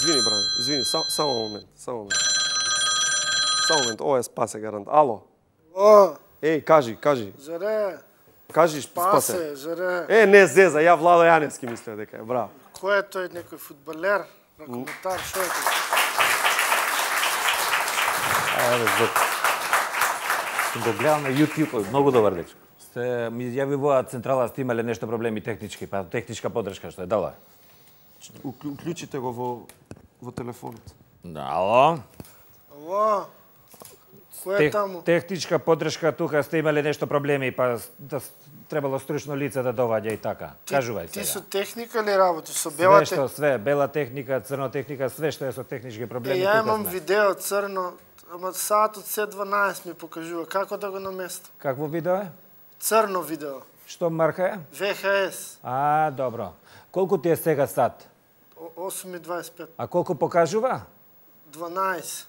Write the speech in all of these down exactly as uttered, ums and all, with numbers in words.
извини, бране, извини, само, само момент, само момент. Само момент, ова е спасе гарант. Ало? О! Еј, кажи, кажи. Жаре! Кажи, спасе. Спасе, жаре! Е, не зеза, ја Владо Јаневски мислеа дека е, браво. Кој е тој, некој фудбалер? Ракометар, шо е тој? Еве, Зоки. Сум го гледал на YouTube, многу добар дечко. Сте ми јавиваа централа, сте имале нешто проблеми технички, па техничка подршка што е дала. Уклучите го во во телефонот. Да, ало? Ало? Кој е Тех, таму? техничка подршка тука сте имале нешто проблеми, па да, требало стручно лице да доваѓа и така. Кажувај сега. Ти со техника ли работиш, со Све бела што, техника? све, бела техника, црно техника, све што е со технички проблеми, Ја тука имам сме. видео црно, ама саатот се дванаесет ми покажува. Како да го наместам? Какво видео е? Црно видео. Што марка е? В Х С. А, добро. Колку ти е сега сат? осум и дваесет и пет. А колку покажува? дванаесет.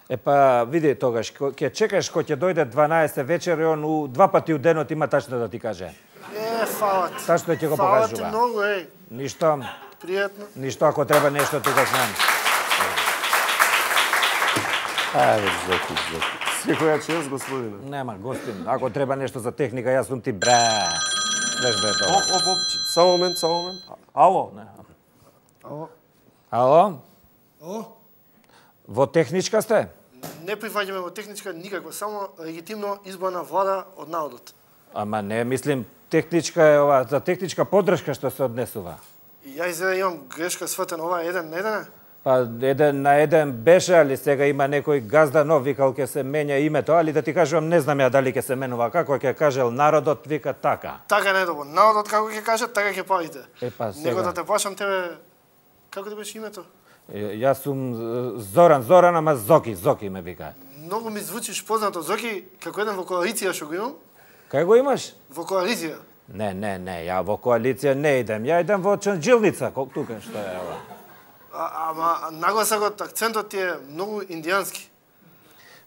Е па, види тогаш, ќе чекаш кој ќе дојде дванаесет вечер и он у, два пати у денот има тачно да ти каже. Е, фала ти. Тачно ќе го Фала ти покажува. многу, еј. Ништо, Пријатно. ништо ако треба нешто тука знам. Ајде, Зоки, Зоки. Секоја чест, господине. Нема, гостин, ако треба нешто за техника, јас сум ти бра. Знаеш да е О, тоа. о, о, само момент, само момент. Ало? Ало? Ало? О? Во техничка сте? Не прифаќаме во техничка никаква, само легитимно избрана влада од народот. Ама не, мислим, техничка е ова, за техничка подршка што се однесува. И ја изгледа имам грешка сватен, ова е еден на еден е? Па еден на еден беше, али сега има некој газда нов, викал ке се менја името, али да ти кажувам, не знам ја дали ќе се менува како, ќе кажел народот вика така. Така не е добро. Народот како ќе каже, така ќе правите. Е, па, Него сега. да те плашам тебе, како ти беше името? Е, Јас сум е, Зоран, Зоран, ама Зоки, Зоки ме вика. Многу ми звучиш познато, Зоки, како еден во коалиција што го имам. Кај го имаш? Во коалиција. Не, не, не, ја во коалиција не идем, ја идем во Чанџилница, колку тука што е ова. А, ама нагласокот, акцентот ти е многу индијански.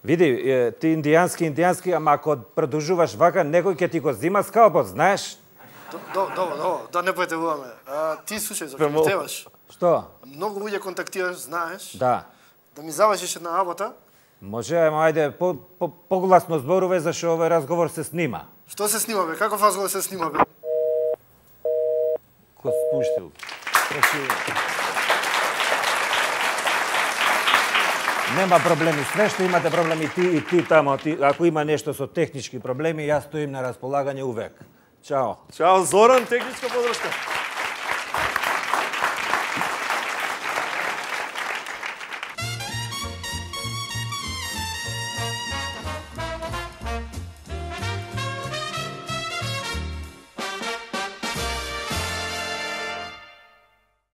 Види, е, ти индијански, индијански, ама ако продолжуваш вака, некој ќе ти го зима скалпот, знаеш? Добро, добро, да не претегуваме. А, ти слушај, Зоки, ми требаш. Што? Многу луѓе контактираш, знаеш. Да. Да ми завршиш една работа. Може, ама ајде, по, по, погласно зборувај, зашто овој разговор се снима. Што се снима, бе? Каков разговор се снима, бе? Ко спуштил. Значи... Нема проблеми, све што имате проблеми ти и ти тамо, ти, ако има нешто со технички проблеми, јас стоим на располагање увек. Чао. Чао, Зоран, техничка подршка.